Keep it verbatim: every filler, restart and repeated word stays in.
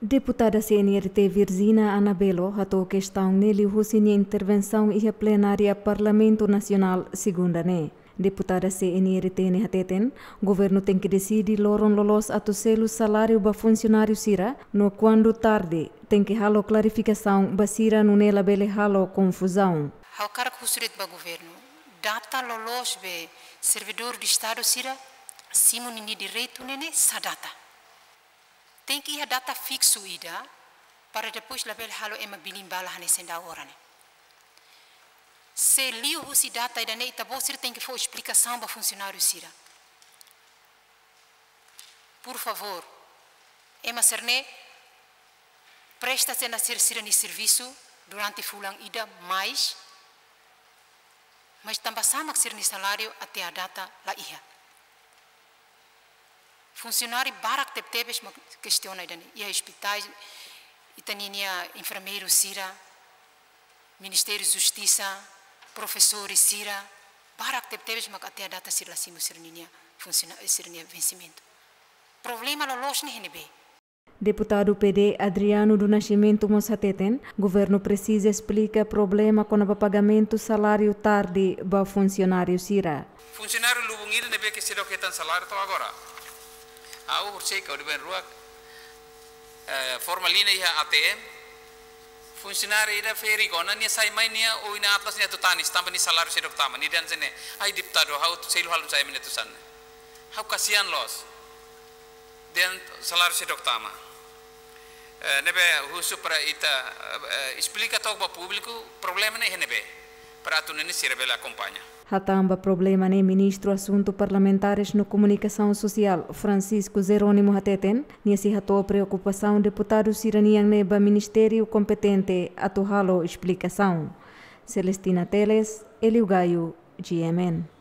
Deputada C N R T Virgina Anabelo hato'o kestaun ne'e liuhusi nia intervensaun iha plenária Parlamentu Nasionál segunda ne'e. Deputada C N R T ne'e hateten, governu tenke deside loron loloos atu selu saláriu ba funsionáriu sira, no kuandu tarde, tenke halo klarifikasaun ba sira nune'e labele halo konfuzaun. Ha'u hakarak husu de'it ba governu, data loloos be servidór de Estadu sira simu ninia direitu ne'e ne'e sá data. Tenke iha data fiksu ida, para depois labele halo ema bilin bala hanesan daudaun ne'e. Se liuhusi data ida-ne'e ita-boot sira tenke fó esplikasaun ba funsionáriu sira. Por favór, ema sira-ne'e presta sena sir sira-nia servisu durante fulan ida mais, mas tanba sá mak sira-nia saláriu até à data la iha. Funsionáriu barak tebetebes mak kestiona ida-ne'e. Iha ospitais, ita-nia enfermeiru sira, Ministériu Justisa, profesores sira, barak tebetebes mak até à data sira la simu sira-nia funsiona-, sira-nia vensimentu. Problema loloos ne'e iha ne'ebé? Deputadu P D Adriano do Nascimento mós hateten, governu presiza esplika problema kona-ba pagamentu saláriu tarde ba funsionáriu sira. Funsionáriu lubun ida ne'ebé ke seidauk hetan saláriu to'o agora. Ha'u horisehik ha'u dehan ba imi, eh, formalina iha A T M. Funsionáriu ida ferik ona, nia sai mai nia oin Atlas nia atu tanis, tanba nia saláriu seidauk tama. Nia dehan hanesan ne'e, ai deputadu, ha'u selu halo hanesan ne'e atu sasán. Ha'u kasihan loos. Dehan saláriu seidauk tama. Eh, ne'ebé husu para ita, eh, esplika took ba públiku, problema ne'e iha ne'ebé. Para atu nune'e sira bele akompaña. Hatán ba problema ne'e, Ministru Asuntu Parlamentares no Komunikasaun Sosiál, Francisco Jerónimo hateten, nia sei hato'o preokupasaun deputadu sira-nian ne'e ba ministériu kompetente atu halo esplikasaun. Celestina Teles, Elio Gaio, G M N.